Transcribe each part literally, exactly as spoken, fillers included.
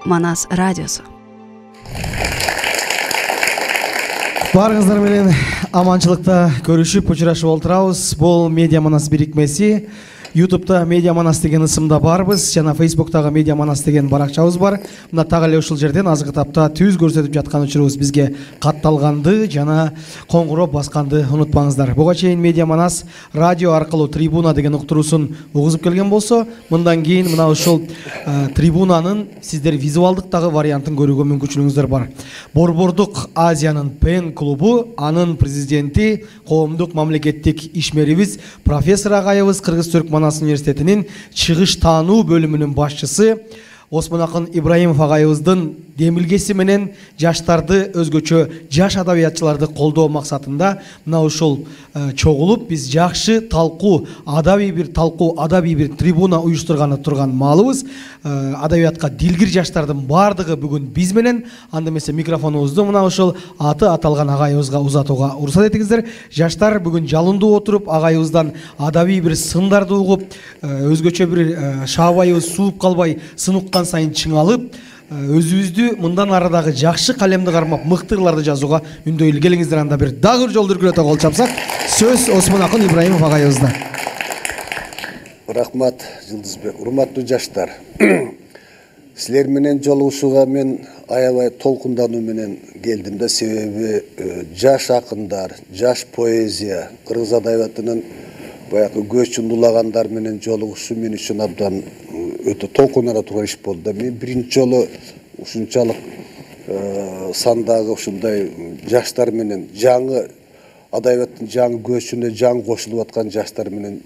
Манас радиосу. Барыңыздар менен аманчылыкта көрүшүп, учурашып олтурабыз. Бул Медиа Манас бирикмеси. YouTube'да Медиа Манас деген ысымда барбыз, жана Facebook'тагы Медиа Манас деген баракчабыз бар. Мына так эле ушул жерден азыркы тапта түз көрсөтүп жаткан учурубуз бизге катталганды жана коңгуроп басканды унутпаңыздар. Буга чейин Медиа Манас радио аркылуу трибуна деген уктуруусун угузуп келген болсо, мындан кийин мына ушул трибунанын сиздер визуалдык дагы вариантын көрүүгө мүмкүнчүлүгүңүздөр бар. Борбордук Азиянын Пен клубу, анын президенти, коомдук мамлекеттик ишмерибиз профессор агайыбыз, Кыргыз-Түрк Манас университетинин чыгыш таануу бөлүмүнүн башчысы Осмонакын Ибраимов агайыбыздын демилгеси менен жаштарды, өзгөчө жаш адабиятчыларды колдоо максатында мына ушул чогулуп биз жакшы талкуу, адабий бир талкуу, адабий бир трибуна уюштурганы турган маалыбыз. Адабиятка дилгир жаштардын бардыгы бүгүн биз менен. Анда эмесе микрофонубузду мына ушул аты аталган агайыбызга узатууга уруксат этиңиздер. Жаштар бүгүн жалындуу отуруп, агайыбыздан адабий бир сындарды угуп, өзгөчө бир шаабайыбыз сууп калбай, сын уккан сайын чыңалып, өзүбүздү мындан арадагы жакшы калемди кармап, мыкты ырларды жазууга үндөйлү. Келиңиздер, анда бир дагы бир жолу үркүрөтө кол чапсак. Сөз Осмонакын Ибраимов агайыбызда. Рахмат, Жылдызбек. Урматтуу жаштар, силер менен жолугушууга мен аябай толкундануу менен келдим да, себеби жаш акындар, жаш поэзия, кыргыз адабиятынын баягы көчүн улагандар менен жолугушуу мен үчүн абдан өтө толкунара турган иш болду да. Мен биринчи жолу ушунчалык сандагы ушундай жаштар менен, жаңы адабияттын жаңы көчүнө жаңы кошулуп аткан жаштар менен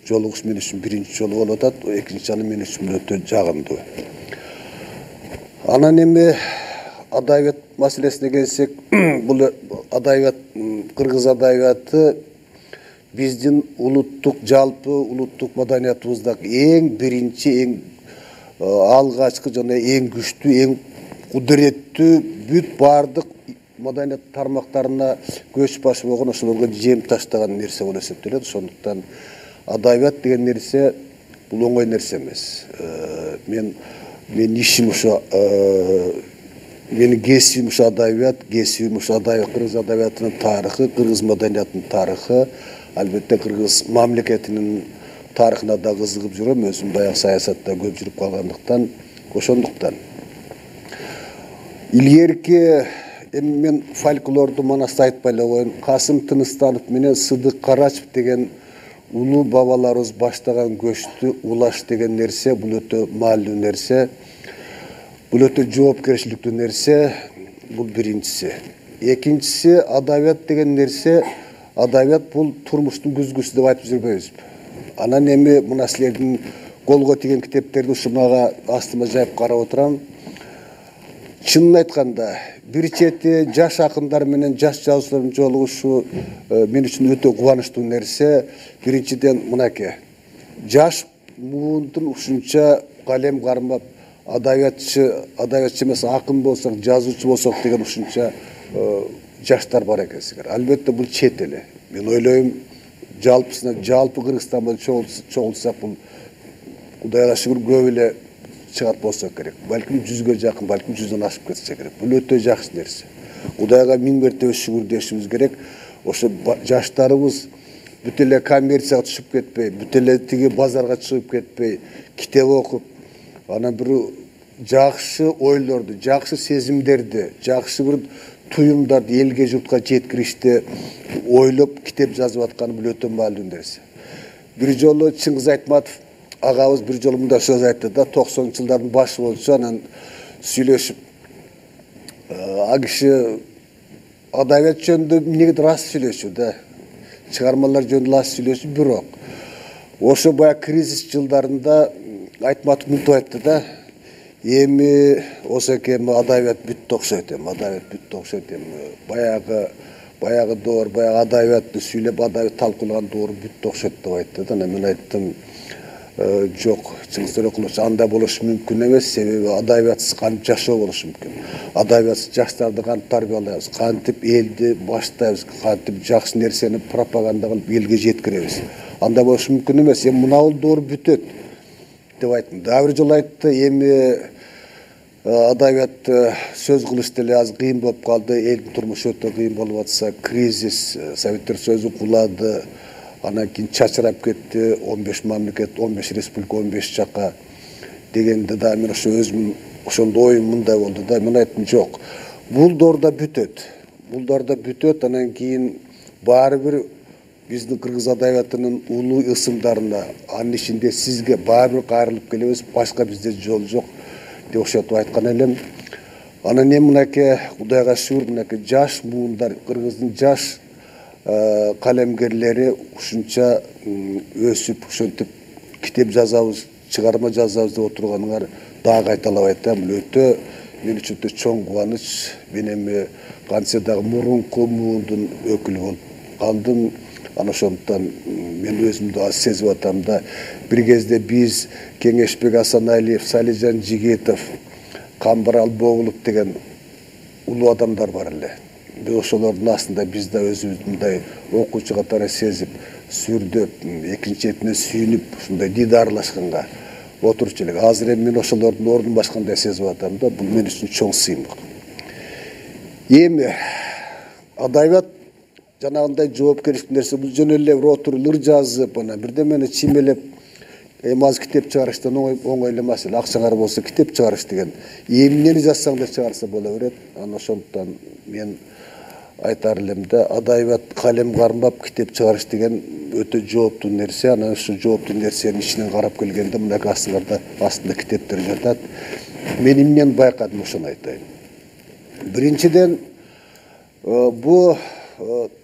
жолугуш мен үчүн биринчи жолу болуп атат. Экинчи жолу мен үчүн өтө жагымдуу. Анан эми адабият маселесине келсек, бул адабият, кыргыз адабияты биздин улуттук, жалпы улуттук маданиятыбыздагы эң биринчи, эң алгачкы жана эң күчтүү, эң кудуреттүү, бүт бардык маданият тармактарына көч башы болгон, ошолорго жем таштаган нерсе болуп эсептелет. Ошондуктан адабият деген нерсе бул оңой нерсе эмес. Мен мен ишим ошо, менин кесибим ошо адабият, кесибим ошо адабият, кыргыз адабиятынын тарыхы, кыргыз маданиятынын тарыхы, албетте кыргыз мамлекетинин тарыхына да кызыгып жүрөм. Өзүм баягы саясатта көп жүрүп калгандыктан, ошондуктан. Илгерки эми мен фольклорду Манаста айтпай эле коеюн. Касым Тыныстанов менен Сыдык Карачев деген улуу бабаларыбыз баштаган көчтү улаш деген нерсе бул өтө маанилүү нерсе. Бул өтө жоопкерчиликтүү нерсе. Бул биринчиси. Экинчиси, адабият деген нерсе, адабият бул турмуштун күзгүсү деп айтып жүрбөйбүзбү? Анан эми мына силердин колго тийген китептерди ушумага астыма жайып карап отурам. Чынын айтканда, бир чети жаш акындар менен жаш жазуучулардын жолугушуу мен үчүн өтө кубанычтуу нерсе. Биринчиден мынакей, жаш муундун ушунча калем кармап, адабиятчы, адабиятчы эмес акын болсок, жазуучу болсок деген ушунча жаштар бар экенсиңер. Албетте бул чет эле. Мен ойлойм, жалпысына, жалпы Кыргызстанда чогултсак бул Кудайга шүгүр көп эле чыгат болсо керек. Балким жүзгө жакын, балким жүздөн ашып кетсе керек. Бул өтө жакшы нерсе. Кудайга миң мертебе шүгүр дешибиз керек. Ошо жаштарыбыз бүт эле коммерцияга түшүп кетпей, бүт эле тиги базарга чыгып кетпей, китеп окуп, анан бир жакшы ойлорду, жакшы сезимдерди, жакшы бир туюмдарды элге, журтка жеткиришти ойлоп китеп жазып атканы бул өтө маанилүү нерсе. Бир жолу Чыңгыз Айтматов агабыз бир жолу мындай сөз айтты да, токсонунчу жылдардын башы болчу, анан сүйлөшүп, а киши адабият жөнүндө эмнеге рас сүйлөшүү да, чыгармалар жөнүндө рас сүйлөшүү, бирок ошо баягы кризис жылдарында Айтматов мынтип айтты да, эми осеке эми адабият бүттү окшойт, эми адабият бүттү окшойт, эми баягы баягы доор, баягы адабиятты сүйлөп, адабият талкуулаган доор бүттү окшойт деп айтты да. Мен айттым, жок, Чыңгыз Төрөкулович, андай болушу мүмкүн эмес, себеби адабиятсыз кантип жашоо болушу мүмкүн. Адабиятсыз жаштарды кантип тарбиялайбыз, кантип элди баштайбыз, кантип жакшы нерсени пропаганда кылып элге жеткиребиз. Андай болушу мүмкүн эмес. Эми мына бул доор бүтөт деп айттым. Дагы бир жолу айтты, эми адабият сөз кылыш деле аз кыйын болуп калды. Элдин турмушу өтө кыйын болуп атса, кризис, Советтер Союзу кулады, анан кийин чачырап кетти. он беш мамлекет, он беш республика, он беш жака дегенде да мен ошо өзүм ошондо оюм мындай болду да. Мен айттым, жок. Бул доорда бүтөт. Бул доорда бүтөт. Анан кийин баары бир биздин кыргыз адабиятынын улуу ысымдарына, анын ичинде сизге баары бир кайрылып келебиз. Башка бизде жол жок деп ошентип айткан элем. Анан эми мынакей Кудайга шүгүр, мынакей жаш муундар, кыргыздын жаш калемгерлери ушунча өсүп, ошентип китеп жазабыз, чыгарма жазабыз деп отурганыңар дагы кайталабайт да. Бул өтө мен үчүн өтө чоң кубаныч. Мен эми кантсе дагы мурунку муундун өкүлү болуп калдым. Ana ошондуктан мен өзүмдү аз сезип атам да. Бир кезде биз Кеңешбек Асаналиев, Салижан Жигитов, Камбарал Боголук деген улуу адамдар бар эле. Биз ошолордун астында биз да өзүбүздү мындай окуучу катары сезип, сүрдөп, экинчи четине сүйүнүп, ушундай дидарлашканга отурчу элек. Азыр эми мен ошолордун ордун башкандай сезип атам да. Бул мен үчүн чоң сыймык. Эми адабият жанагындай жоопкерчилик нерсе, бул жөн эле бир отуруп ыр жазып, анан бирдемени чимелеп, эми азыр китеп чыгарыштан оңой эле маселе. Акчаңар болсо китеп чыгарыш деген. Эмнени жазсаң да чыгарса боло берет. Анан ошондуктан мен айтар элем да, адабият калем кармап китеп чыгарыш деген өтө жооптуу нерсе. Анан ушу жооптуу нерсенин ичинен карап келгенде мынакей астыңарда астында китептер жатат. Мен эмнени байкадым ошону айтайын. Биринчиден, бул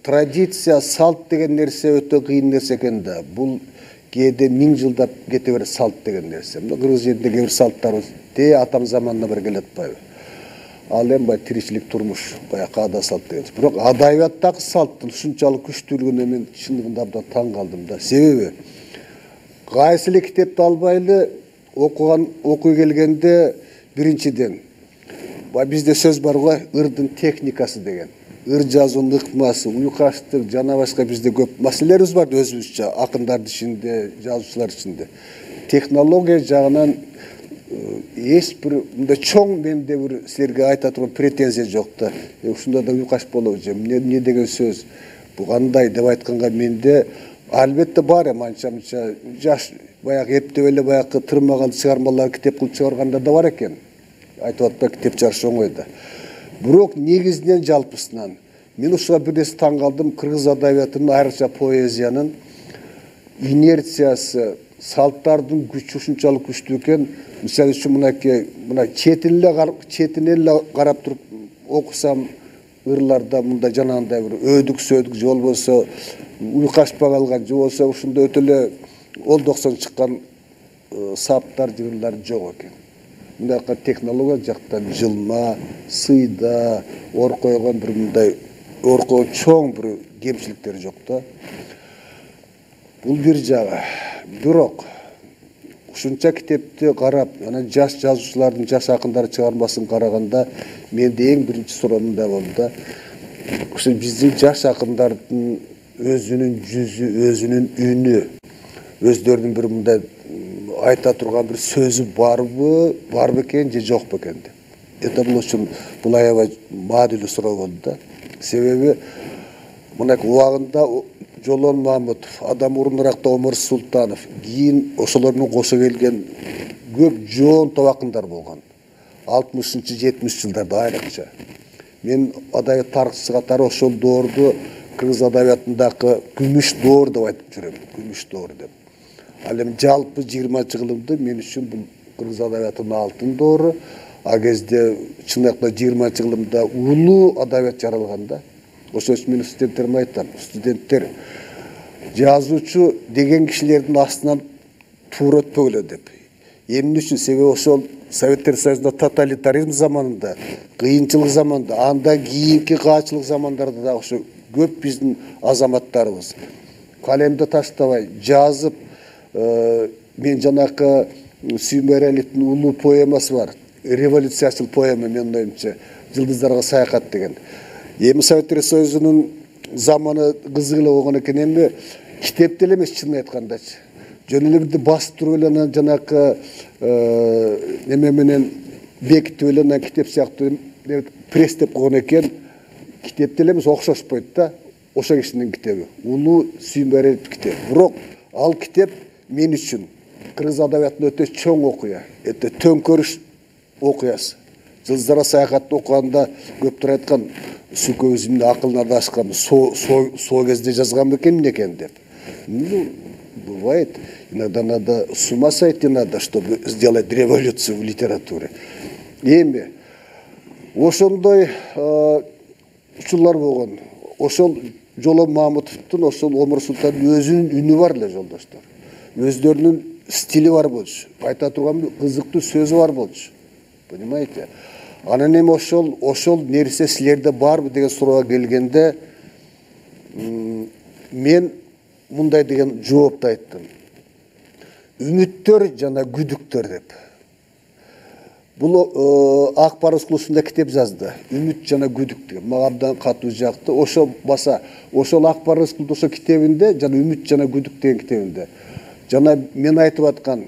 традиция, салт деген нерсе өтө кыйын нерсе экен да. Бул кээде миң жылдап кете берет салт деген нерсе. Мына кыргыз жеринде кээ бир салттарыбыз те атам заманына бери келе атпайбы. Ал эми бай тиричилик турмуш, бая каада салт деген. Бирок адабияттагы салттын ушунчалык күчтүүлүгүнө мен чындыгында абдан таң калдым да. Себеби кайсы эле китепти албайлы окуган окуй келгенде биринчиден бай бизде сөз бар го, ырдын техникасы деген. Ыр жазуунун ыкмасы, уйкаштык жана башка бизде көп маселелерибиз бар өзүбүзчө, акындардын ичинде, жазуучулар ичинде. Технология жагынан эч бир мындай чоң менде бир силерге айта турган претензия жок да. Ушунда да уйкаш болобу, эмне деген сөз, бу кандай деп айтканга менде албетте бар эми анча-мынча жаш баягы эптеп эле баягы тырмаган чыгармалар китеп кылып чыгаргандар да бар экен. Айтып атпай китеп чыгарыш оңой да. Бирок негизинен жалпысынан мен ушуга бир нерсе таң калдым. Кыргыз адабиятынын, айрыкча поэзиянын инерциясы, салттардын күчү ушунчалык күчтүү экен. Мисалы үчүн мынакей мына четин эле четинен эле карап туруп окусам, ырларда мындай жанагындай бир өдүк сөдүк же болбосо уйкашпай калган же болбосо ушунда өтө эле олдоксон чыккан саптар, жырлар жок экен. Мындайка технология жактан жылма, сыйда, ор койгон бир мындай орко чоң бир кемчиликтер жок да. Бул бир жагы. Бирок ушунча китепти карап, анан жаш жазуучулардын, жаш акындардын чыгармасын караганда менде эң биринчи суроо мындай болду да. Ошо биздин жаш акындардын өзүнүн жүзү, өзүнүн үнү, өздөрүнүн бир мындай айта турган бир сөзү барбы, бар бекен же жок бекен деп. Это бул үчүн бул аябай маанилүү суроо болду да. Себеби мынакей убагында Жолон Мамытов, адам мурунуракта Омар Султанов, кийин ошолордун кошо келген көп жоон табакындар болгон. алтымышынчы жетимишинчи жылдарда айрыкча. Мен адабият тарыхчысы катары ошол доорду кыргыз адабиятындагы күмүш доор деп айтып жүрөм. Күмүш доор деп. Ал эми жалпы жыйырманчы кылымды мен үчүн бул кыргыз адабиятынын алтын доору. А кезде чындыкта жыйырманчы кылымда улуу адабият жаралган да. Ошол үчүн мен студенттериме айтам, студенттер жазуучу деген кишилердин астынан туура өтпөгүлө деп. Эмне үчүн? Себеби ошол Советтер Союзунда тоталитаризм заманында, кыйынчылык заманында, андан кийинки каачылык замандарда да ошо көп биздин азаматтарыбыз калемди таштабай жазып, мен жанакы Сүйүмбай Эралиевдин улуу поэмасы бар. Революциячыл поэма, менин оюмча, Жылдыздарга саякат деген. Эми Советтер Союзунун заманы кызык эле болгон экен. Эми китеп деле эмес, чынын айткандачы. Жөн эле бирди басып туруп эле анан жанакы неме менен бекитип эле анан китеп сыяктуу пресстеп койгон экен. Китеп деле эмес, окшошпойт да. Ошо кишинин китеби. Улуу Сүйүмбариев китеби. Бирок ал китеп мен үчүн кыргыз адабиятында өтө чоң окуя, өтө төңкөрүш окуясы. Жылдызара саякатты окуганда көптөр айткан, Сүкөбүз эмне акылын адашкан, со кезде жазган бекен экен деп. Ну, бывает. Иногда надо с ума сойти надо, чтобы сделать революцию в литературе. Эми ошондой учурлар болгон. Ошол Жоло Мамутовдун, ошол Омур Султандын өзүнүн үнү бар эле, жолдоштор. Өздөрүнүн стили бар болчу. Айта турган кызыктуу сөзү бар болчу. Понимаете? Анан эми ошол ошол нерсе силерде барбы деген суроого келгенде, мен мындай деген жоопту айттым. Үмүттөр жана күдүктөр деп. Бул Ак Барыс клубунда китеп жазды. Үмүт жана күдүк деген. Мага абдан катуу жакты. Ошо баса, ошол Ак Барыс клубунда ошо китебинде, жана Үмүт жана күдүк деген китебинде, жана мен айтып аткан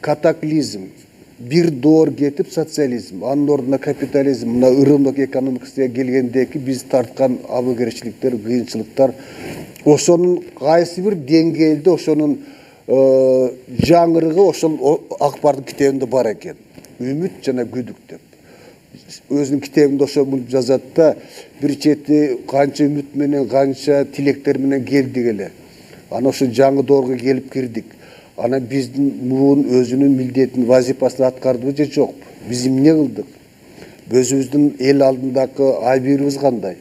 катаклизм, бир доор кетип социализм, анын ордуна капитализм, мына ырымдык экономикасына келгендеки биз тарткан абыгерчиликтер, кыйынчылыктар, ошонун кайсы бир деңгээлде ошонун жаңырыгы ошол Ак Бардын китебинде бар экен. Үмүт жана күдүк деп. Өзүнүн китебинде ошо мынтип жазат да, бир чети канча үмүт менен, канча тилектер менен келдик эле. Анан ошо жаңы доорго келип кирдик. Анан биздин муун өзүнүн милдетин, вазифасын аткардыбы же жокпу? Биз эмне кылдык? Өзүбүздүн эл алдындагы айбырыбыз кандай?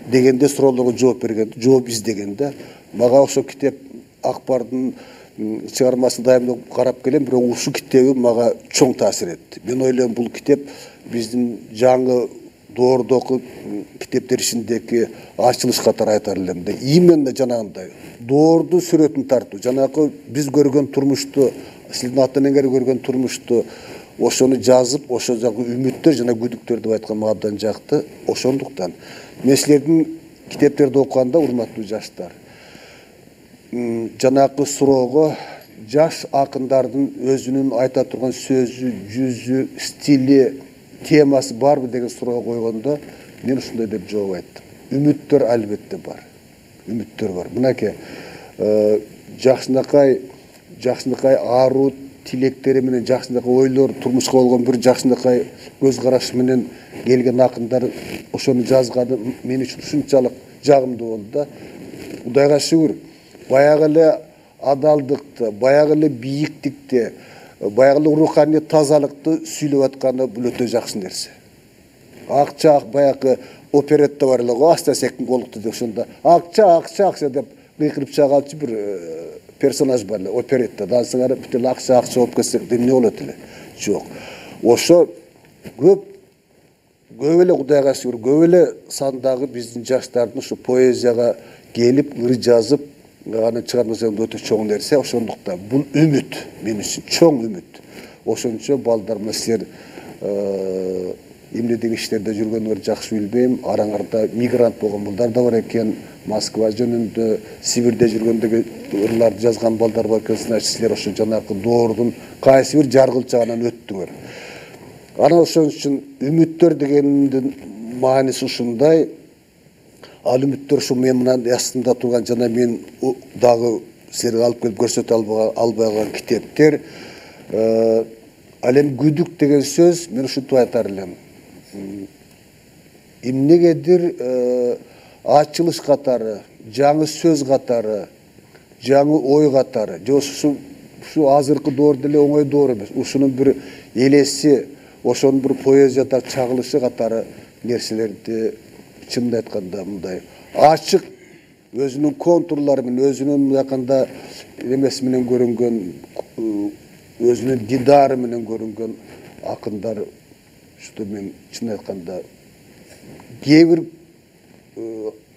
Дегенде суроолорго жооп берген, жооп издегенде, мага ошо китеп Ак Бардын чыгармасын дайыма карап келем, бирок ушул китеби мага чоң таасир этти. Мен ойлойм, бул китеп биздин жаңы доордогу китептер ичиндеги ачылыш катары айтар элем да. Именно жанагындай доордун сүрөтүн тартуу, жанагы биз көргөн турмушту, сиздин ата энеңер көргөн турмушту, ошону жазып, ошо жагы үмүттөр жана күдүктөр деп айткан мага абдан жакты. Ошондуктан мен силердин китептерди окуганда, урматтуу жаштар, жанагы суроого жаш акындардын өзүнүн айта турган сөзү, жүзү, стили, темасы барбы деген суроого койгондо, мен ушундай деп жооп айттым. Үмүттөр албетте бар. Үмүттөр бар. Мынакей жакшынакай, жакшынакай аруу тилектери менен, жакшынакай ойлор, турмушка болгон бир жакшынакай көз карашы менен келген акындар ошону жазганы мен үчүн ушунчалык жагымдуу болду да. Кудайга шүгүр, баягы эле адалдыкты, баягы эле бийиктикти, баягы эле руханий тазалыкты сүйлөп атканы бул өтө жакшы нерсе. Акча, баягы оперетта бар эле го, Астасектин колукту деп ошондо акча, акча, акча деп кыйкырып чыгаалчы бир персонаж бар эле оперетта. Дансыңар бүт эле акча, акча болуп кетсек эмне болот эле? Жок. Ошо көп көп эле Кудайга шүгүр, көп эле сандагы биздин жаштардын ушу поэзияга келип, ыр жазып, анын чыгармасы өтө чоң нерсе. Ошондуктан бул үмүт мен үчүн чоң үмүт. Ошончо балдар, мына силер эмне деген иштерде жүргөнүңөр жакшы билбейм. Араңарда мигрант болгон балдар да бар экен. Москва жөнүндө, Сибирде жүргөндөгү ырларды жазган балдар бар экен. Значит, силер ошо жанагы доордун кайсы бир жаргылчагынан өттүңөр. Анан ошон үчүн үмүттөр дегендин мааниси ушундай. Ал үмүттөр ушу мен мынан астында турган жана мен дагы силерге алып келип көрсөтө албай калган китептер. Ал эми күдүк деген сөз мен ушинтип айтар элем. Эмнегедир ачылыш катары, жаңы сөз катары, жаңы ой катары, же ушу ушу азыркы доордо эле оңой доор эмес. Ушунун бир элеси, ошонун бир поэзияда чагылышы катары нерселерди чынын айтканда мындай ачык, өзүнүн контурлары менен, өзүнүн мынакында эмеси менен көрүнгөн, өзүнүн дидары менен көрүнгөн акындар, что мен чын айтканда кээ бир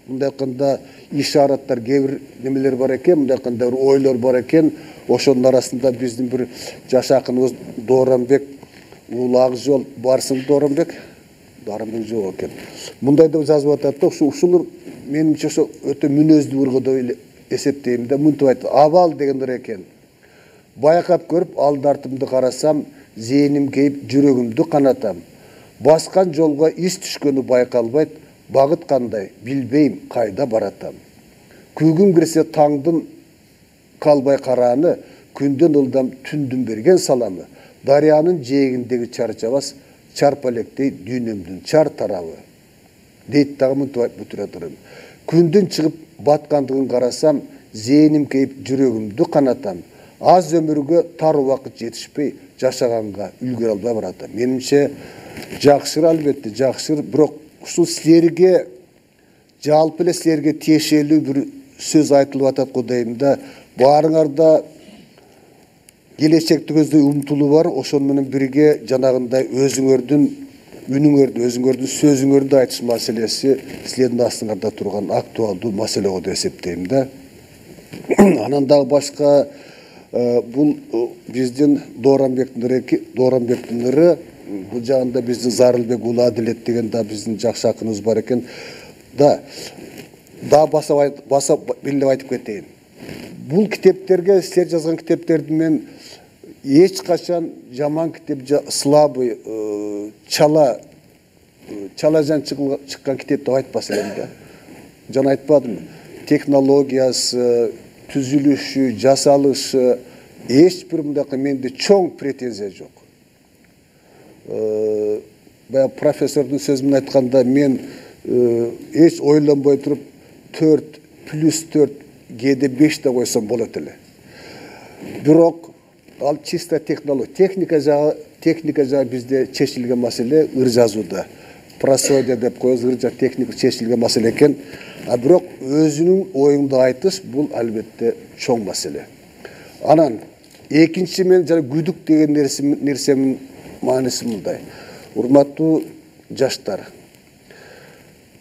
мындай айтканда ишараттар, кээ бир немелер бар экен, мындай айтканда бир ойлор бар экен. Ошонун арасында биздин бир жаш акыныбыз Дооронбек, Улуу Акжол, барсың Дооронбек, Дооронбек жок экен. Мындай деп жазып атат да, ушу ушул менимче ошо өтө мүнөздүү ыргы деп эсептейм да, мынтип айтат. Абал дегендер экен. Байкап көрүп, алды артымды карасам, зээним кейип жүрөгүмдү канатам. Баскан жолго из түшкөнү байкалбайт, багыт кандай билбейм, кайда баратам. Күйгүм кирсе таңдын калбай карааны, күндөн ылдам түндүн берген саламы. Дарыянын жээгиндеги чарчабас, чарпалектей дүйнөмдүн чар тарабы. Дейт дагы мынтип бүтүрө турам. Күндүн чыгып баткандыгын карасам, зээним кейип жүрөгүмдү канатам. Аз өмүргө тар убакыт жетишпей, жашаганга үлгүрө албай баратам. Менимче жакшыр, албетте жакшыр, бирок ушул силерге жалпы эле силерге тиешелүү бир сөз айтылып атат го дейм да. Баарыңарда келечекти көздөй умтулуу бар, ошону менен бирге жанагындай өзүңөрдүн үнүңөрдү, өзүңөрдүн сөзүңөрдү айтыш маселеси силердин астыңарда турган актуалдуу маселе го деп эсептейм да. Анан дагы башка бул биздин Дооранбектин ыры, Дооранбектин ыры, бул жагында биздин Зарылбек уулу Адилет деген да биздин жакшы акыныбыз бар экен. Да, да баса баса белгилеп айтып кетейин. Бул китептерге, силер жазган китептерди мен эч качан жаман китеп, слабый, чала, чалажан чыккан китеп деп айтпас элем да. Жана айтпадымбы? Технологиясы, түзүлүшү, жасалышы эч бир мындакы менде чоң претензия жок. Баягы профессордун сөзүн айтканда мен эч ойлонбой туруп төрт плюс төрт кээде беш да койсом болот эле. Бирок ал чисто технология, техника жагы, техника жагы бизде чечилген маселе ыр жазууда. Просодия деп коебуз, ыр жагы техника чечилген маселе экен. А бирок өзүнүн оюңду айтыш бул албетте чоң маселе. Анан экинчи мен жана күдүк деген нерсенин мааниси мындай. Урматтуу жаштар,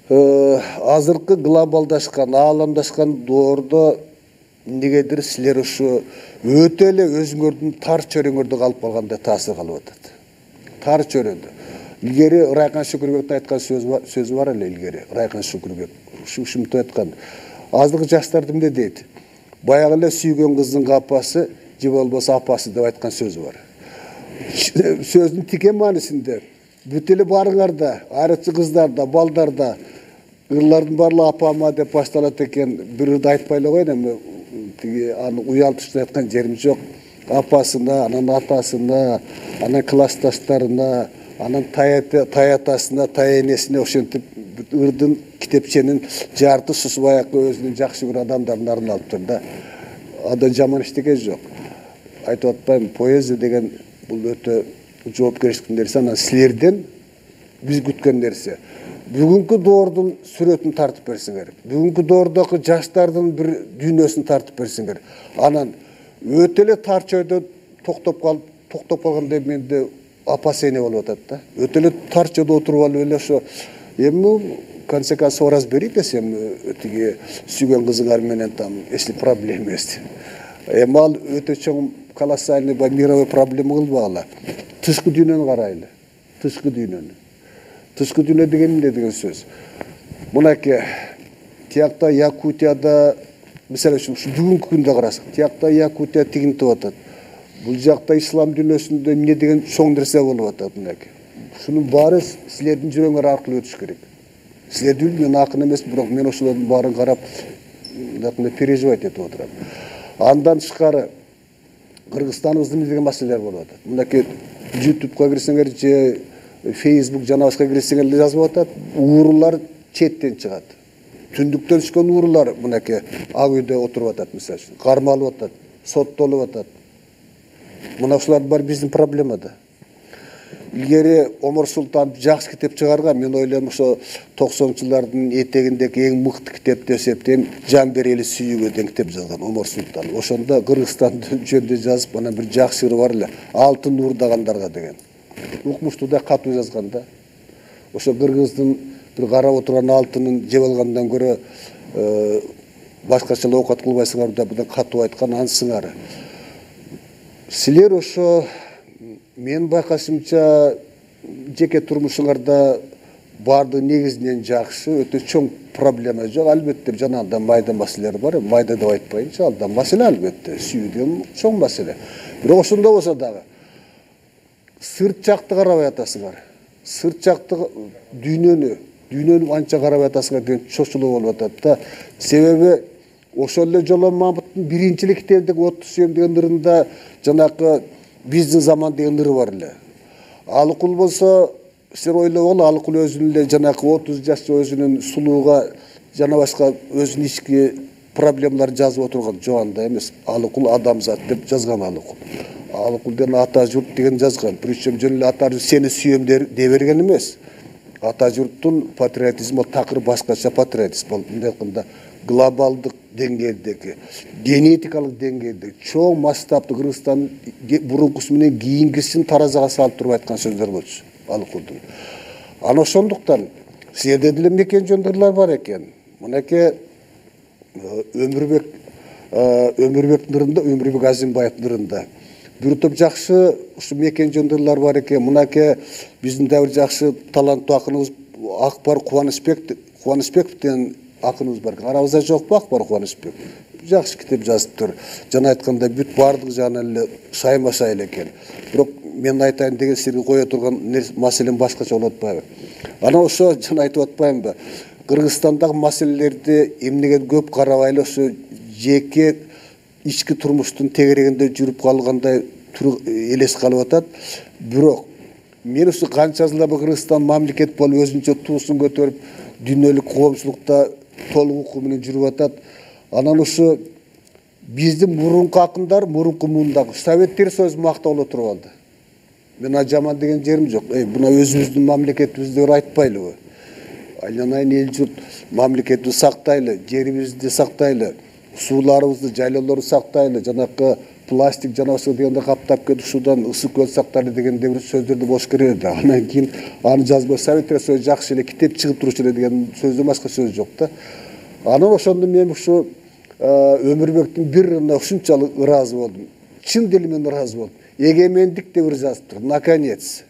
азыркы глобалдашкан, ааламдашкан доордо негедир силер ушу өтө эле өзүңөрдүн тар чөйрөңөрдө калып калгандай таасир калып атат. Тар чөйрөдө. Илгери Райкан Шүкүрбектин айткан сөзү бар эле, илгери Райкан Шүкүрбек ушинтип айткан. Азыркы жаштар эмне дейт? Баягы эле сүйгөн кыздын апасы, же болбосо апасы деп айткан сөзү бар. Сөздүн тике маанисинде бүт эле баарыңарда, айрыкча кыздарда, балдарда ырлардын баарлыгы апама деп башталат экен. Бир ырды айтпай эле коеюн, эми тиги аны уялтыштырып айткан жерим жок. Апасына, анан атасына, анан классташтарына, анан таятасына, таянесине ошентип ырдын китепченин жартысысы баягы өзүнүн жакшы көргөн адамдарына арналыптыр да. Анда жаман эчтеке жок. Айтып атпайм, поэзия деген бул өтө жоопкерчиликтүү нерсе, анан силерден биз күткөн нерсе. Бүгүнкү доордун сүрөтүн тартып берсиңер. Бүгүнкү доордогу жаштардын бир дүйнөсүн тартып берсиңер. Анан өтө эле тар чөйдө токтоп калып, токтоп калгандай менде опасение болуп атат да. Өтө эле тар чөйдө отуруп алып эле ошо эми конце концов разберите десем, тиги сүйгөн кызыңар менен там, если проблема есть. Эми ал өтө чоң колоссальный мировой проблема кылбагыла. Тышкы дүйнөнү карайлы. Тышкы дүйнөнү. Тышкы дүйнө деген эмне деген сөз? Мынакей тиякта Якутияда, мисалы үчүн бүгүнкү күндө карасак, тиякта Якутия тигинтип атат. Бул жакта ислам дүйнөсүндө эмне деген чоң нерсе болуп атат мынакей. Шунун баары силердин жүрөгүңөр аркылуу өтүш керек. Силерди билбейм, мен акын эмес, бирок мен ошолордун баарын карап, мындай переживать этип отурам. Андан тышкары Кыргызстаныбызда эмне деген маселелер болуп атат. Мынакей ютубка кирсеңер же Facebook жана башка кирсеңер жазып атат, уурулар четтен чыгат. Түндүктөн түшкөн уурулар мынакей ак үйдө отуруп атат, мисалы үчүн, кармалып атат, соттолуп атат. Мына ушулар бар биздин проблема да. Илгери Омар Султан жакшы китеп чыгарган, мен ойлойм ошо токсонунчу жылдардын этегиндеги эң мыкты китеп деп эсептейм, Жан берели сүйүүгө деген китеп жазган Омар Султан. Ошондо Кыргызстанды жөнүндө жазып, анан бир жакшы ыры бар эле, Алтын уурдагандарга деген. Укмуштуу да катуу жазган да. Ошо кыргыздын бир карап отурган алтынын жеп алгандан көрө башкача оокат кылбайсыңар деп бирден катуу айткан, анын сыңары. Силер ошо мен байкашымча жеке турмушуңарда баардыгы негизинен жакшы, өтө чоң проблема жок. Албетте жанагындай майда маселелер бар, майда деп айтпайынчы, ал да маселе албетте, сүйүүдөн чоң маселе. Бирок ошондо болсо дагы сырт жакты карабай атасыңар. Сырт жакты дүйнөнү, дүйнөнү анча карабай атасыңар деген чочулуу болуп атат да. Себеби ошол эле Жолон Мамыттын биринчи эле китебиндеги отуз сүйөм деген ырында жанакы биздин заман деген ыры бар эле. Алыкул болсо, сен ойлогола, Алыкул өзүнүн эле жанакы отуз жашчы өзүнүн сулууга жана башка өзүнүн ички проблемаларын жазып отурган жок, андай эмес. Алыкул адамзат деп жазган Алыкул. Алыкул деген ата журт деген жазган. Причем жөн эле ата журт сени сүйөм дей берген эмес. Ата журттун патриотизми такыр башкача патриотизм болуп, мындай айтканда глобалдык деңгээлдеги, генетикалык деңгээлдеги чоң масштабтуу Кыргызстан бурункусу менен кийинкисин таразага салып туруп айткан сөздөр болчу Алыкулдун. Ана ошондуктан силерде деле мекен жөндөрлөр бар экен. Мынакей Өмүрбек Өмүрбектин ырында, Өмүрбек Азимбаевдин ырында бир топ жакшы ушу мекен жөндөрлөр бар экен. Мынакей биздин да бир жакшы таланттуу акыныбыз Акбар Кубанычбек Кубанычбеков деген акыныбыз бар экен. Арабызда жокпу Акбар Кубанычбек? Жакшы китеп жазыптыр. Жана айтканда бүт баардык жагынан эле шайма-шай эле экен. Бирок мен айтайын деген силерге кое турган маселем башкача болуп атпайбы? Ана ошо жана айтып атпаймынбы? Кыргызстандагы маселелерди эмнеге көп карабай эле ошо жеке ички турмуштун тегерегинде жүрүп калгандай элес калып атат. Бирок мен ушу канча жылдар Кыргызстан мамлекет болуп өзүнчө туусун көтөрүп дүйнөлүк коомчулукта толук укук менен жүрүп атат. Анан ушу биздин мурунку акындар, мурунку мундагы Советтер Союзу мактап отуруп алды. Мен жаман деген жерим жок. Эй, буна өзүбүздүн мамлекетибизди айтпайлыбы? Айланайын эл журт мамлекетти сактайлы, жерибизди сактайлы, сууларыбызды, жайлоолорду сактайлы, жанакы пластик жана ошо дегенде каптап кетип ушудан ысык көл сактайлы дегенде бир сөздөрдү болуш керек эле. Анан кийин аны жазбай Советтер Союзу жакшы эле китеп чыгып турушу эле деген сөздөн башка сөз жок да. Анан ошондо мен ушу Өмүрбектин бир ырына ушунчалык ыраазы болдум. Чын деле мен ыраазы болдум. Эгемендик деп ыр жазыптыр. Наконец.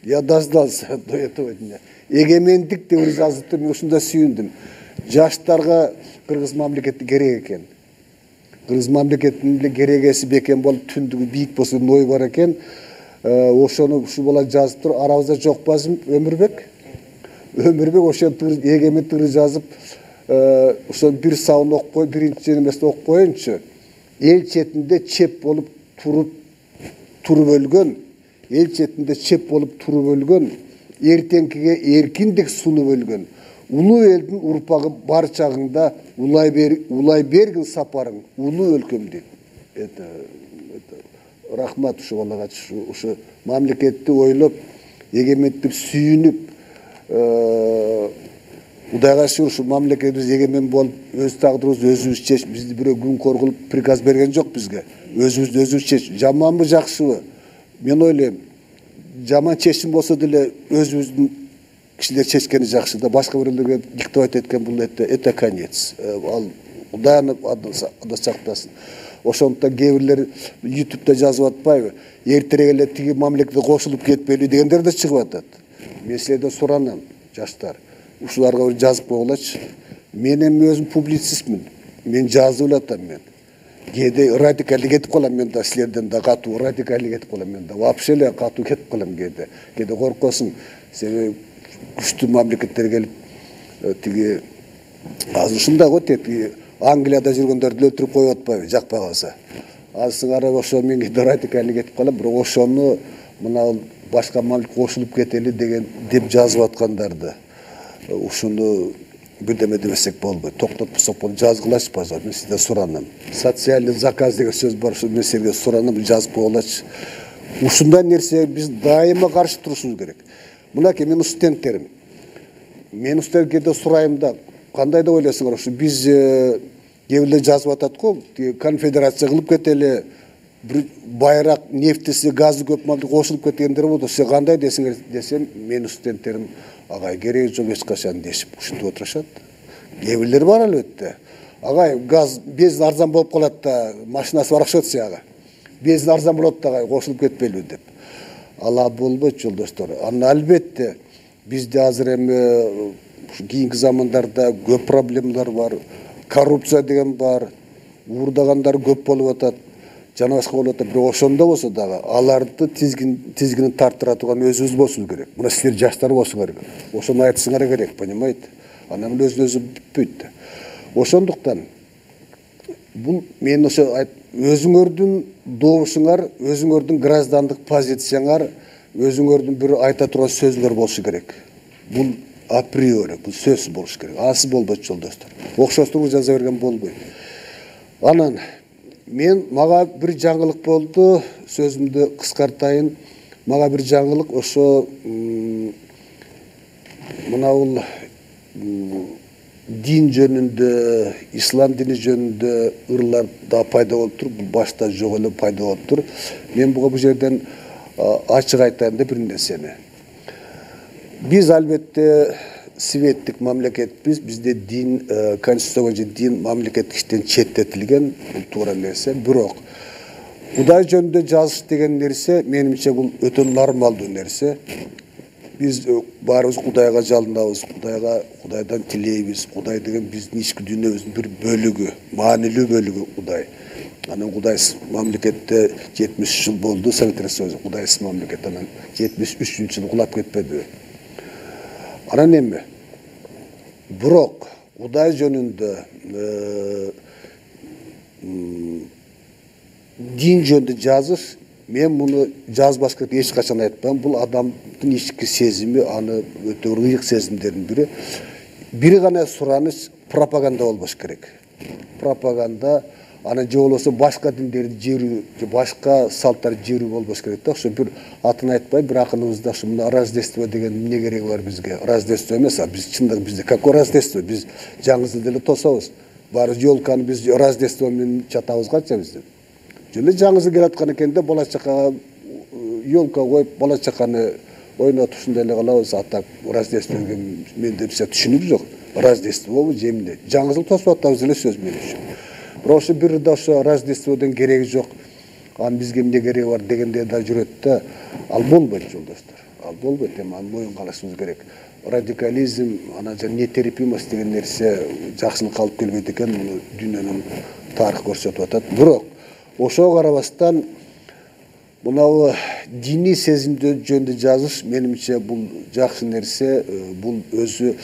Я дождался до этого дня. Эгемендик деп ыр жазыптыр. Мен ушунда сүйүндүм. Жаштарга Кыргыз мамлекети керек экен. Кыргыз мамлекетинин эле керегеси бекен болуп, түндүгү бийик болсо ой бар экен. Ошону ушу бола жазыптыр. Арабызда жок базым Өмүрбек. Өмүрбек ошо эгемендик ыры жазып, ошо бир сабын окуп кой, биринчи эмесин окуп коеюнчу. Эл четинде чеп болуп туруп туруп өлгөн, эл четинде чеп болуп туруп өлгөн, эртеңкиге эркиндик сунуп өлгөн. Улуу элдин урпагы бар чагыңда улай бер, улай бергин сапарың, улуу өлкөм дейт. Это это рахмат ушу балага, ушу мамлекетти ойлоп, эгемендикти сүйүнүп, Кудайга шүгүр ушу мамлекетибиз эгемен болуп, өз тагдырыбызды өзүбүз чечип, бизди бирөө күн коргулуп приказ берген жок бизге. Өзүбүздү өзүбүз чечип, жаманбы, жакшыбы? Мен ойлойм, жаман чечим болсо деле өзүбүздүн кишилер чечкени жакшы да, башка биреулерге диктовать эткен бул это это конец. Ал Кудай аны ада сактасын. Ошондуктан кээ бирлер ютубта жазып атпайбы? Эртерээк эле тиги мамлекетке кошулуп кетпели дегендер да чыгып атат. Мен силерден суранам, жаштар. Ушуларга бир жазып койгулачы. Мен эми өзүм публицистмин. Мен жазып элатам мен. Кээде радикалдык кетип калам мен да, силерден да катуу радикалдык кетип калам мен да. Вообще эле катуу кетип калам кээде. Кээде коркосуң. Себеби күчтүү мамлекеттер келип тиги азыр ушундай го тетиги Англияда жүргөндөрдү өлтүрүп коюп атпайбы, жакпай калса. Азыр карап ошо мен кээде радикалдык кетип калам, бирок ошону мына башка мамлекетке кошулуп кетели деген деп жазып аткандарды ушуну бирдеме дебесек болбойт. Токтотпосок болот, жазгылачы, пожалуйста. Мен сизден суранам. Социальный заказ деген сөз бар, ушу мен силерге суранам, жазып койгулачы. Ушундай нерсе биз дайыма каршы турушубуз керек. Мынакей менин студенттерим. Мен студенттерге сурайм да, кандай деп ойлойсуңар, ушу биз кээ жазып атат го, конфедерация кылып кетели, бир байраак нефтиси, газы көп мамлекет кошулуп кеткендер болду. Сиз кандай десиңер десем, менин студенттерим агай кереги жок эч качан дешип ушинтип отурушат. Кээ бирлер бар албетте. Агай газ бензин арзан болуп калат да, машинасы бар окшот сага. Бензин арзан болот да, агай кошулуп кетпелби деп. Ала болбойт жолдоштор. Аны албетте бизде азыр эми кийинки замандарда көп проблемалар бар. Коррупция деген бар. Уурдагандар көп болуп атат. жана башка болуп атат. Бирок ошондо болсо дагы аларды тизгин тизгинин тарттыра турган өзүбүз болушубуз керек. Мына силер жаштар болушуңар керек. Ошону айтышыңар керек, понимаете? Анан өзүн өзү бүтпөйт. Ошондуктан бул мен ошо өзүңөрдүн добушуңар, өзүңөрдүн граждандык позицияңар, өзүңөрдүн бир айта турган сөзүңөр болушу керек. Бул априори, бул сөзсүз болуш керек. Асы болбойт жолдоштор. Окшоштуруп жаза берген болбойт. Анан мен мага бир жаңылык болду, сөзүмдү кыскартайын. Мага бир жаңылык ошо мына бул дин жөнүндө, ислам дини жөнүндө ырлар да пайда болуп тур, бул башта жок эле пайда болуп тур. Мен буга бул жерден ачык айтайын деп бир нерсени. Биз албетте светтик мамлекетпиз, бизде дин, конституция боюнча дин мамлекеттик иштен четтетилген, бул туура нерсе. Бирок Кудай жөнүндө жазыш деген нерсе менимче бул өтө нормалдуу нерсе. Биз баарыбыз Кудайга жалынабыз, Кудайга, Кудайдан тилейбиз. Кудай деген биздин ички дүйнөбүздүн бир бөлүгү, маанилүү бөлүгү Кудай. Анан Кудайсыз мамлекетте жетимиш үч жыл болду, Совет Союзу Кудайсыз мамлекет, анан жетимиш үчүнчү жылы кулап кетпедиби? Анан эми бирок Кудай жөнүндө дин жөнүндө жазыш, мен муну жазбаш керек эч качан айтпайм. Бул адамдын ички сезими, аны өтө ыйык сезимдердин бири. Бир гана сураныч пропаганда болбош керек. Пропаганда, анан же болбосо башка диндерди жерүү, же башка салттарды жерүү болбош керек да. Ошо бир атын айтпай, бир акыныбызда ошо мына Рождество деген эмне кереги бар бизге? Рождество эмес, а биз чындыгы бизде какой Рождество? Биз жаңы жылды эле тособуз. Баары ёлканы биз Рождество менен чатабыз канча бизде. Жөн эле жаңы жыл келаткан экен да, бала чакага ёлка коюп, бала чаканы ойнотуп ушундай эле калабыз. А так Рождество деген менде биз түшүнүк жок. Рождествобу же эмне? Жаңы жыл тосуп атабыз эле сөз менен. Бирок ошо бир да ошо Рождестводон кереги жок. Анын бизге эмне кереги бар дегендер да жүрөт да. Ал болбойт жолдоштор. Ал болбойт, эми аны моюнга алышыбыз керек. Радикализм, анан жана нетерпимость деген нерсе жакшылыкка алып келбейт экен, муну дүйнөнүн тарыхы көрсөтүп атат. Бирок ошого карабастан мынабу диний сезимдер жөнүндө жазыш менимче бул жакшы нерсе. Бул өзү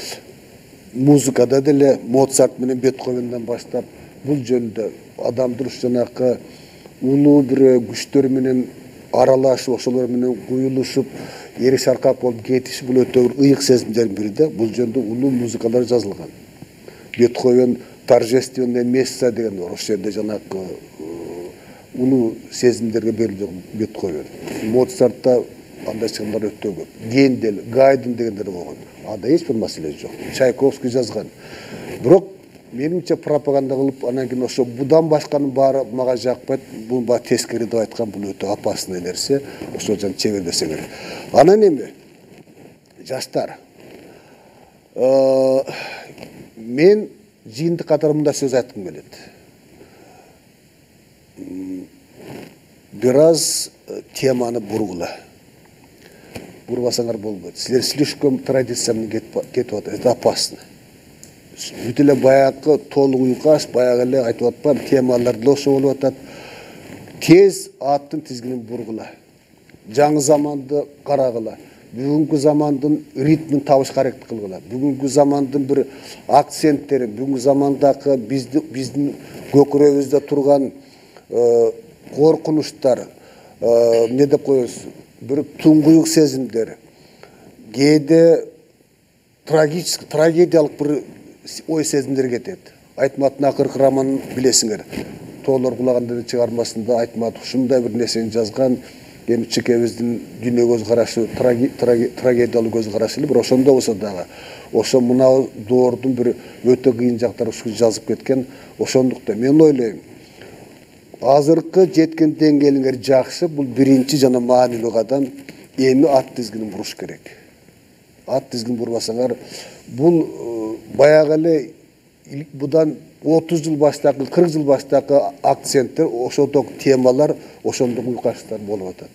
музыкада деле Моцарт менен Бетховенден баштап бул жөнүндө адамдын жанакы улуу бир күчтөр менен аралашып, ошолор менен куюлушуп, эри шаркап болуп кетиш, бул өтө ыйык сезимдердин бири да. Бул жөнүндө улуу музыкалар жазылган. Бетховен торжественная месса деген бар. Ошол жерде жанакы улуу сезимдерге берилген Бетховен. Моцартта андай чыгымдар өтө көп. Гендель, Гайден дегендер болгон. Анда эч бир маселе жок. Чайковский жазган. Бирок менимче пропаганда кылып, анан кийин ошо будан башканын баары мага жакпайт. Бул баа тескери деп айткан, бул өтө опасный нерсе. Ошо жан чебердесе керек. Анан эми жаштар, мен жыйынтык катары мындай сөз айткым келет. Бир аз теманы бургула. Бурбасаңар болбойт. Силер слишком традиция менен кетип атат. Это опасно. Бүт эле баягы толук уйкаш, баягы эле айтып атпам, темалар деле ошо болуп атат. Тез аттын тизгинин бургула. Жаңы заманды карагыла. Бүгүнкү замандын ритмин табышка аракет кылгыла. Бүгүнкү замандын бир акценттерин, бүгүнкү замандагы биздин биздин көкүрөгүбүздө турган коркунучтар, эмне деп коебуз, бир туңгуюк сезимдер, кээде трагический, трагедиялык бир ой сезимдер кетет. Айтматтын акыркы романын билесиңер. Тоолор кулаганда чыгармасында Айтмат ушундай бир нерсени жазган. Эми чекебиздин дүйнө көз карашы трагедиялык көз карашы эле, бирок ошондо болсо дагы ошо мына доордун бир өтө кыйын жактары ушул жазып кеткен. Ошондуктан мен ойлойм, азыркы жеткен деңгээлиңер жакшы, бул биринчи жана маанилүү кадам. Эми ат тизгинин буруш керек. Ат тизгин бурбасаңар, бул баягы эле будан отуз жыл баштагы, кырк жыл баштагы акценттер, ошондой темалар, ошондой уйкаштар болуп атат.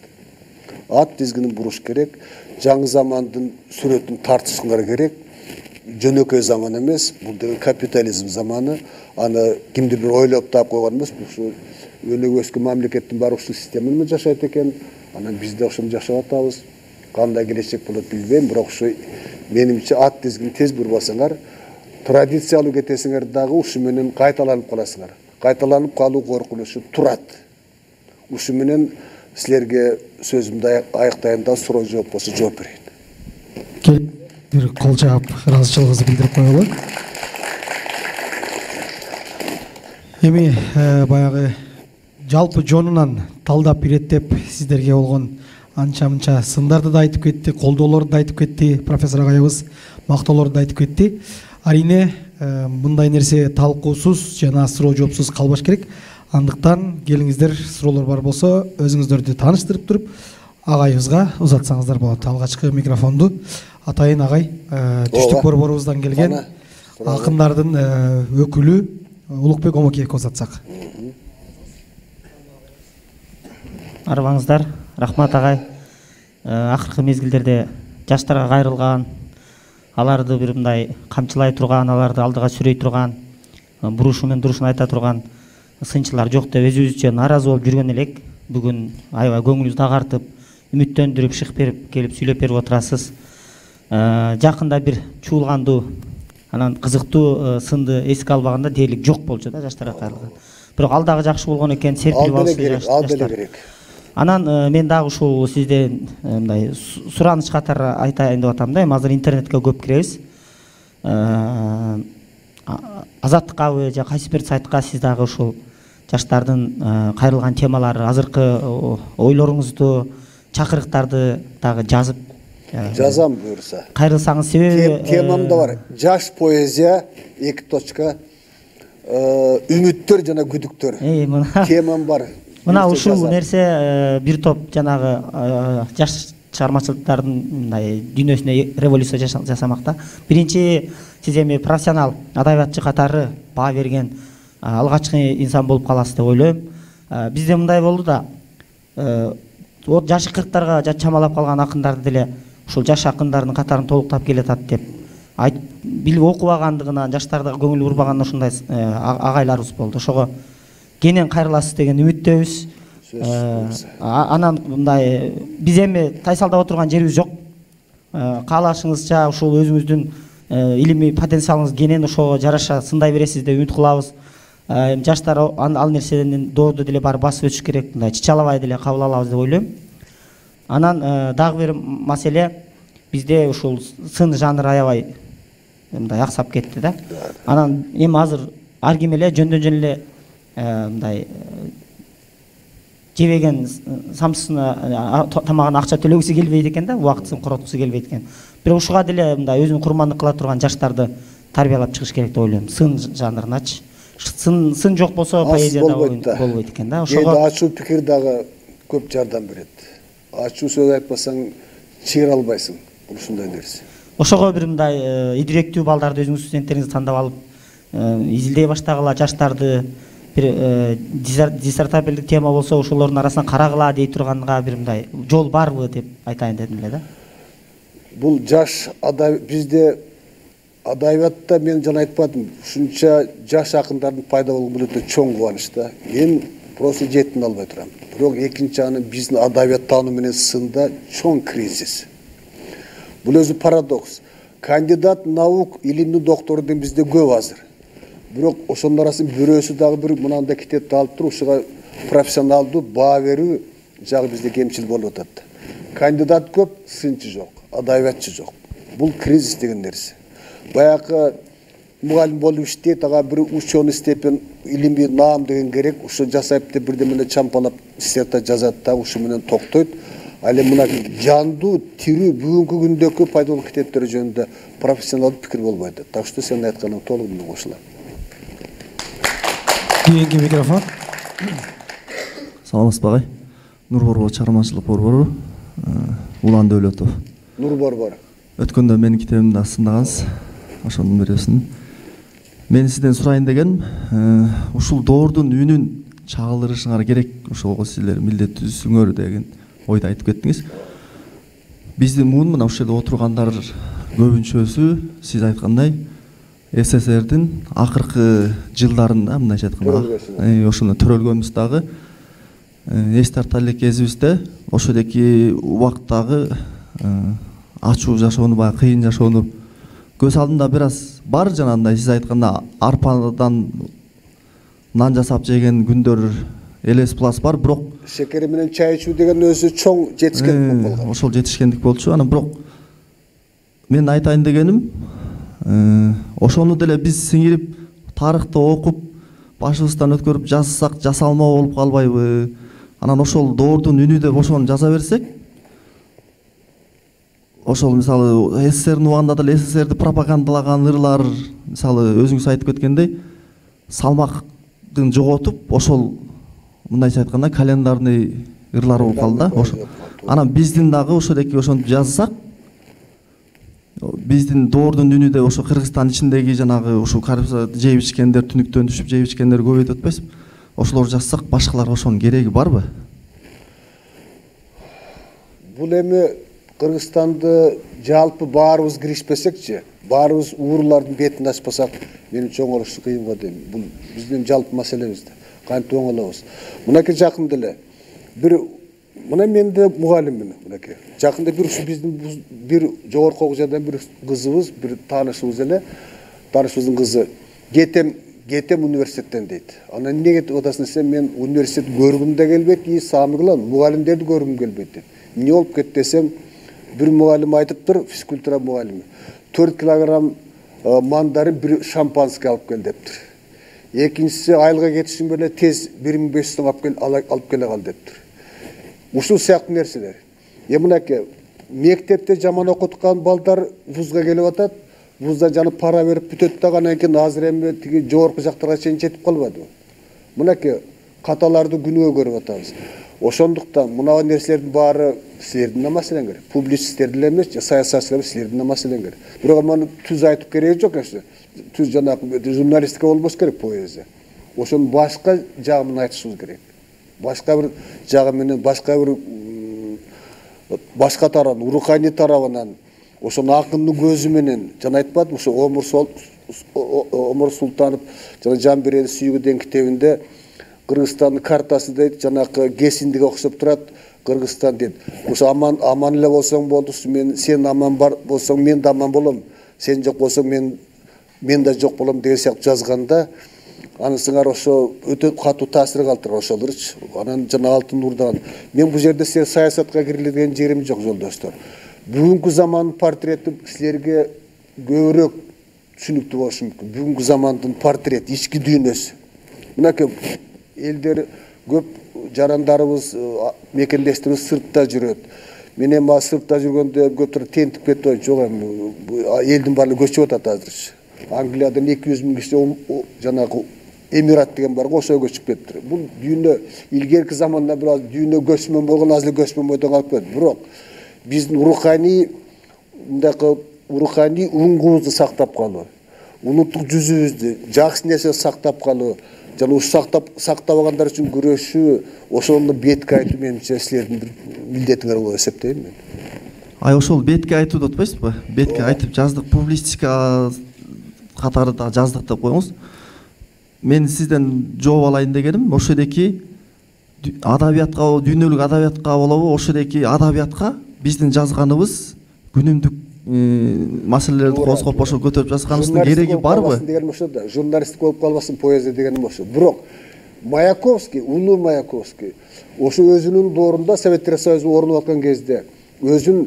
Ат тизгинин буруш керек, жаңы замандын сүрөтүн тартышыңар керек. Жөнөкөй заман эмес, бул деген капитализм заманы. Аны кимдир бир ойлоп таап койгон эмес, бул өнүгүп өскөн мамлекеттин баары ушул система менен жашайт экен. Анан биз да ошону жашап атабыз. Кандай келечек болот билбейм, бирок ушу менимче ат тизгин тез бурбасаңар, традициялуу кетесиңер дагы ушу менен кайталанып каласыңар. Кайталанып калуу коркунучу турат. Ушу менен силерге сөзүмдү аяктайын да суроо жооп болсо жооп берейин. Бир кол чаап ыраазычылыгыңызды билдирип коелу. Эми баягы жалпы жонунан талдап иреттеп сиздерге болгон анча-мынча сындарды да айтып кетти, колдоолорду да айтып кетти, профессор агайыбыз мактоолорду да айтып кетти. Арине мындай нерсе талкуусуз жана суроо жоопсуз калбаш керек. Андыктан келиңиздер, суроолор бар болсо өзүңүздөрдү тааныштырып туруп агайыбызга узатсаңыздар болот. Алгачкы микрофонду Атайын агай, түштүк борборубуздан келген акындардын өкүлү Улукбек Омокеевге узатсак. Арыбаңыздар, рахмат агай. Акыркы мезгилдерде жаштарга кайрылган, аларды бир мындай камчылай турган, аларды алдыга сүрөй турган, бурушу менен дурушун айта турган сынчылар жок деп өзүбүзчө нааразы болуп жүргөн элек. Бүгүн аябай көңүлүбүздү агартып, үмүттөндүрүп, шык берип келип сүйлөп берип отурасыз. Жакында бир чуулгандуу, анан кызыктуу сынды эске албаганда дээрлик жок болчу да жаштарга кайрылган. Бирок ал дагы жакшы болгон экен, серпилип алышы жаштар. Анан мен дагы ушул сизден мындай сураныч катары айтайын деп атам да. Эми азыр интернетке көп киребиз. Азаттыккабы же кайсы бир сайтка сиз дагы ушул жаштардын кайрылган темалары, азыркы ойлоруңузду, чакырыктарды дагы жазып жазам буюрса. Кайрылсаңыз себеби темам да бар. Жаш поэзия эки точка үмүттөр жана күдүктөр. Темам бар. Мына ушул нерсе бир топ жанагы жаш чыгармачылыктардын мындай дүйнөсүнө революция жасамакта. Биринчи, сиз эми профессионал адабиятчы катары баа берген алгачкы инсан болуп каласыз деп ойлойм. Бизде мындай болду да, жашы кырктарга чамалап калган акындарды деле ушул жаш акындардын катарын толуктап келатат деп билип окубагандыгынан, жаштарга көңүл бурбагандан ушундай агайларыбыз болду. Ошого кенен кайрыласыз деген үмүттөбүз. Анан мындай биз эми тайсалдап отурган жерибиз жок. Каалашыңызча ушул өзүңүздүн илимий потенциалыңыз кенен ошого жараша сындай бересиз деп үмүт кылабыз. Жаштар ал нерседен доорду деле бар басып өтүш керек, мындай чычалабай деле кабыл алабыз деп ойлойм. Анан дагы бир маселе, бизде ушул сын жанры аябай мындай аксап кетти да. Анан эми азыр ар ким эле жөндөн жөн эле мындай жебеген самсысына тамагына акча төлөгүсү келбейт экен да, убактысын короткусу келбейт экен. Бирок ушуга деле мындай өзүн курмандык кыла турган жаштарды тарбиялап чыгыш керек деп ойлойм. Сын жанрыначы. Сын сын жок болсо поэзияда болбойт экен да. Ошого ачуу пикир дагы көп жардам берет. Ачуу сөз айтпасаң чыгыра албайсың. Ушундай нерсе. Ошого бир мындай идиректүү балдарды өзүңүз студенттериңизди тандап алып, изилдей баштагыла, жаштарды бир диссертабелдик тема болсо ошолордун арасынан карагыла дей турганга бир мындай жол барбы деп айтайын дедим эле да. Бул жаш бизде адабиятта мен жана айтпадым, ушунча жаш акындардын пайда болгону өтө чоң кубаныч да. Мен просто жетин албай турам. Бирок экинчи аны биздин адабият таануу менен сында чоң кризис. Бул өзү парадокс. Кандидат наук, илимдин доктору деген бизде көп азыр. Бирок ошонун арасында бирөөсү дагы бир мынандай китепти алып туруп, ушуга профессионалдуу баа берүү жагы бизде кемчил болуп атат. Кандидат көп, сынчы жок, адабиятчы жок. Бул кризис деген нерсе. Баягы мугалим болуп иштейт, ага бир ученый степень, илимий наам деген керек, ушу жасайт деп бирдемени чампалап диссертация жазат да, ушу менен токтойт. Ал эми мына жандуу, тирүү бүгүнкү күндөгү пайда болгон китептер жөнүндө профессионалдуу пикир болбойт. Так что сен айтканың толук менен кошулам. Кийинки микрофон. Саламатсызбы агай? Нур Борбор чыгармачылык борбору, Улан Дөөлөтов. Нур Борбор. Өткөндө менин китебимди астындагансыз, ошонун бирөөсүн. Мен сизден сурайын дегеним, ушул доордун үнүн чагылдырышыңар керек, ошого силер милдеттүүсүңөр деген ойду айтып кеттиңиз. Биздин муун мына ушул жерде отургандар көбүнчөсү сиз айткандай СССРдин акыркы жылдарында мындайча айтканда ошондо төрөлгөнбүз дагы эс тарта элек кезибизде ошодоки убактагы ачуу жашоону, баягы кыйын жашоону көз алдымда бир аз бар. Жанагындай сиз айтканда арпадан нан жасап жеген күндөр элес плас бар, бирок шекери менен чай ичүү деген өзү чоң жетишкендик болгон. Ошол жетишкендик болчу. Анан бирок мен айтайын дегеним, ошону деле биз сиңирип тарыхты окуп башыбыздан өткөрүп жазсак жасалмоо болуп калбайбы? Анан ошол доордун үнү деп ошону жаза берсек, ошол мисалы СССРдин убагында деле СССРди пропагандалаган ырлар, мисалы өзүңүз айтып кеткендей, салмактын жоготуп, ошол мындайча айтканда календарный ырлар болуп калды да. Ошо анан биздин дагы ошодеки ошентип жазсак, биздин доордун үнү деп ошо Кыргызстан ичиндеги жанагы ушул коррупция жеп ичкендер, түнүктөн түшүп жеп ичкендер көбөйүп атпайсызбы? Ошолор жазсак, башкаларга ошонун кереги барбы? Бул эми Кыргызстанды жалпы баарыбыз киришпесекчи, баарыбыз уурулардын бетин ачпасак, менимче оңолушу кыйын го дейм. Бул биздин жалпы маселебиз да. Кантип оңолобуз? Мынакей жакында эле бир мына мен да мугалиммин, мынакей. Жакында бир ушу биздин бир жогорку окуу жайдан бир кызыбыз, бир таанышыбыз эле, таанышыбыздын кызы кетем кетем университеттен дейт. Анан эмне кетип атасың десем, мен университет көргүм да келбейт, и саамы кылам, мугалимдерди көргүм келбейт дейт. Эмне болуп кетти десем, бир мугалим айтыптыр, физкультура мугалими. төрт килограмм мандарин, бир шампанский алып кел дептир. Экинчиси айылга кетишим беле тез бир миң беш жүз сом алып кел алып келе кал дептир. Ушул сыяктуу нерселер. Эми мынакей мектепте жаман окуткан балдар вузга келип атат, вузда жана пара берип бүтөт да, анан кийин азыр эми тиги жогорку жактарга чейин жетип калбадыбы? Мынакей каталарды күнөө көрүп атабыз. Ошондуктан мына нерселердин баары силердин да маселеңер. Публицисттер деле эмес, саясатчылар силердин да маселеңер. Бирок маны түз айтып кереги жок эсе. Түз жанагы журналистика болбош керек, поэзия. Ошонун башка жагын айтышыбыз керек. Башка бир жагы менен, башка бир башка тарабынан, руханий тарабынан, ошону акындын көзү менен, жана айтпадым, ошо Омар Султанов жана Жамберени сүйгү деген китебинде Кыргызстандын картасы дейт, жанакы кесиндиге окшоп турат, Кыргызстан дейт. Ошо аман аман эле болсоң болду, мен сен аман бар болсоң мен да аман болом, сен жок болсоң мен мен да жок болом деген сыяктуу жазганда, анысыңар ошо өтө катуу таасир калтырат ошолорчу. Анан жана Алтын Урдан. Мен бул жерде силер саясатка кирилген жерим жок, жолдоштор. Бүгүнкү замандын портрети силерге көбүрөөк түшүнүктүү болушу мүмкүн. Бүгүнкү замандын портрети, ички дүйнөсү. Мынакей элдер көп жарандарыбыз, мекендештерибиз сыртта жүрөт. Мен эми сыртта жүргөндө көтөр тентип кетип, жок эми элдин баары көчүп атат азырчы. Англиядан эки жүз миң киши жанагы Эмират деген бар го, ошого көчүп кетти. Бул дүйнө илгерки заманда бир аз дүйнө көчмөн болгон, азыр көчмөн бойдон калып кетти. Бирок биздин руханий мындакы руханий уңгубузду сактап калуу, улуттук жүзүбүздү, жакшы нерсе сактап калуу, жана ушу сактап сактабагандар үчүн күрөшүү, ошону бетке айтуу менимче силердин бир милдетиңер болуп эсептейм мен. Ай ошол бетке айтуу деп атпайсызбы? Бетке айтып жаздык, публистика катарында жаздык деп коюңуз. Мен сизден жооп алайын дегеним, ошодеки адабиятка, дүйнөлүк адабиятка болобу, ошодеки адабиятка биздин жазганыбыз күнүмдүк маселелерди козгоп ошо көтөрүп жазганыбыздын кереги барбы? Дегеним ошо да, журналистик болуп калбасын, поэзия дегеним ошо. Бирок Маяковский, улуу Маяковский, ошо өзүнүн доорунда Советтер Союзу орнуп аткан кезде өзүн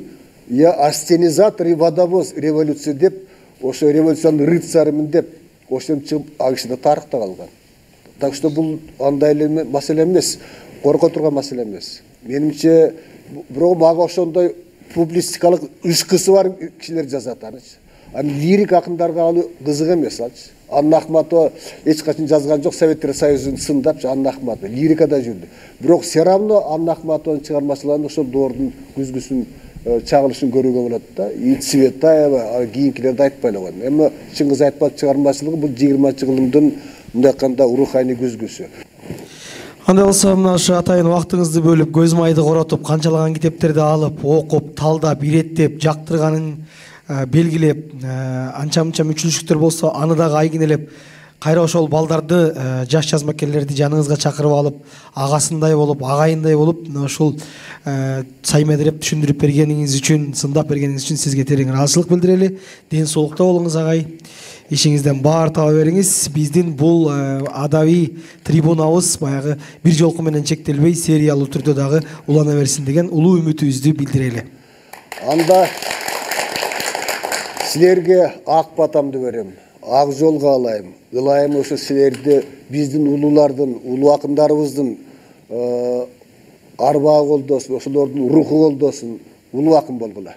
я ассенизатор и водовоз революция деп, ошо революциянын рыцарымын деп, ошентип чыгып ал киши да тарыхта калган. Так что бул андай эле маселе эмес, корко турган маселе эмес. Менимче бирок мага ошондой публистикалык ышкысы бар кишилер жазат анычы. Аны лирик акындарга алуу кызык эмес алчы. Анна Ахматова эч качан жазган жок, Советтер Союзун сындапчы Анна Ахматова лирикада жүрдү. Бирок все равно Анна Ахматованын чыгармачыларын ошол доордун күзгүсүн чагылышын көрүүгө болот да. И Цветаева, кийинкилерди айтпай эле коем. Эми Чыңгыз Айтбаев чыгармачылыгы бул жыйырманчы кылымдын мындай айтканда руханий күзгүсү. Андай болсо мына ушу атайын убактыңызды бөлүп, көз майды коротуп, канчалаган китептерди алып, окуп, талдап, иреттеп, жактырганын белгилеп, анча-мынча мүчүлүштүктөр болсо аны дагы айгинелеп кайра ошол балдарды, жаш жазмакерлерди жаныңызга чакырып алып, агасындай болуп, агайындай болуп, ушул саймедиреп түшүндүрүп бергениңиз үчүн, сындап бергениңиз үчүн сизге терең ыраазычылык билдирели. Ден соолукта болуңуз агай. Ишиңизден баар таба бериңиз. Биздин бул адабий трибунабыз баягы бир жолку менен чектелбей, сериялуу түрдө дагы улана берсин деген улуу үмүтүбүздү билдирели. Анда силерге ак батамды берем, ак жол каалайм. Ылайым ошо силерди биздин улуулардын, улуу акындарыбыздын арбагы колдосун, ошолордун руху колдосун, улуу акын болгула.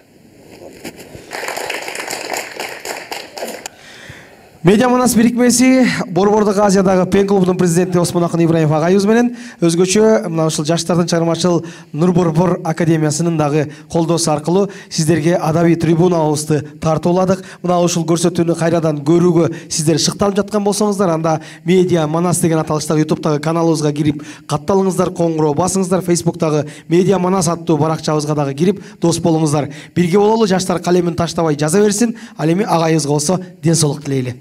Медиа Манас бирикмеси Борбордук Азиядагы Пен клубунун президенти Осмон Акын Ибраимов агайыбыз менен өзгөчө мына ушул жаштардын чыгармачыл Нур Борбор академиясынын дагы колдоосу аркылуу сиздерге адабий трибунабызды тартууладык. Мына ушул көрсөтүүнү кайрадан көрүүгө сиздер шыкталып жаткан болсоңуздар, анда Медиа Манас деген аталыштагы ютубтагы каналыбызга кирип катталыңыздар, коңгуроо басыңыздар, Фейсбуктагы Медиа Манас аттуу баракчабызга дагы кирип дос болуңуздар. Бирге бололу, жаштар калемин таштабай жаза берсин. Ал эми агайыбызга болсо ден соолук тилейли.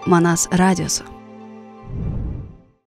Манас радиосу.